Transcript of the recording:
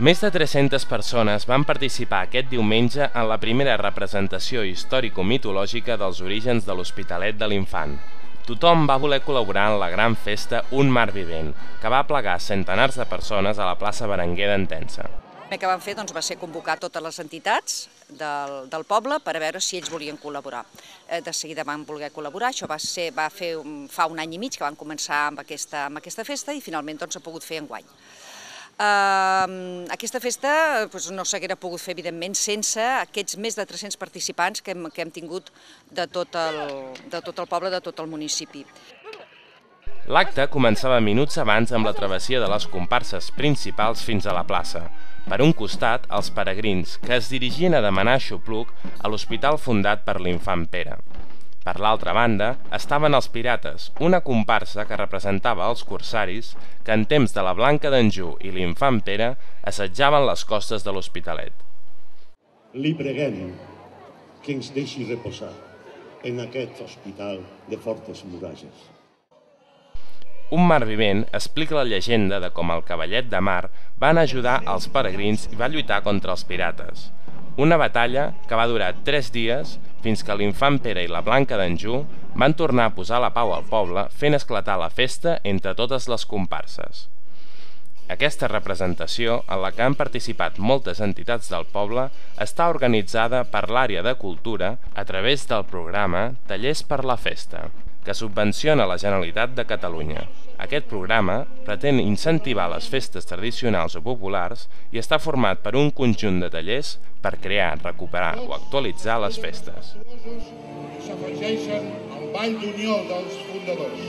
Més de 300 persones van participar aquest diumenge en la primera representació històrico-mitològica dels orígens de l'Hospitalet de l'Infant. Tothom va voler col·laborar en la gran festa Un mar vivent, que va aplegar centenars de persones a la plaça Berenguer d'Entença. El que vam fer va ser convocar totes les entitats del poble per a veure si ells volien col·laborar. De seguida van voler col·laborar, això va fer fa un any i mig que van començar amb aquesta festa i finalment s'ha pogut fer enguany. Aquesta festa no s'haguera pogut fer, evidentment, sense aquests més de 300 participants que hem tingut de tot el poble, de tot el municipi. L'acte començava minuts abans amb la travessia de les comparses principals fins a la plaça. Per un costat, els peregrins, que es dirigien a demanar aixopluc a l'hospital fundat per l'infant Pere. Per l'altra banda, estaven els pirates, una comparsa que representava els corsaris que en temps de la Blanca d'Anjou i l'infant Pere assetjaven les costes de l'Hospitalet. Li preguem que ens deixi reposar en aquest hospital de fortes muralles. Un mar vivent explica la llegenda de com el cavallet de mar van ajudar els peregrins i va lluitar contra els pirates. Una batalla que va durar 3 dies fins que l'infant Pere i la Blanca d'Anjou van tornar a posar la pau al poble fent esclatar la festa entre totes les comparses. Aquesta representació, en la que han participat moltes entitats del poble, està organitzada per l'àrea de cultura a través del programa Tallers per la Festa, que subvenciona la Generalitat de Catalunya. Aquest programa pretén incentivar les festes tradicionals o populars i està format per un conjunt de tallers per crear, recuperar o actualitzar les festes. S'afegeixen al Ball d'Unió dels fundadors.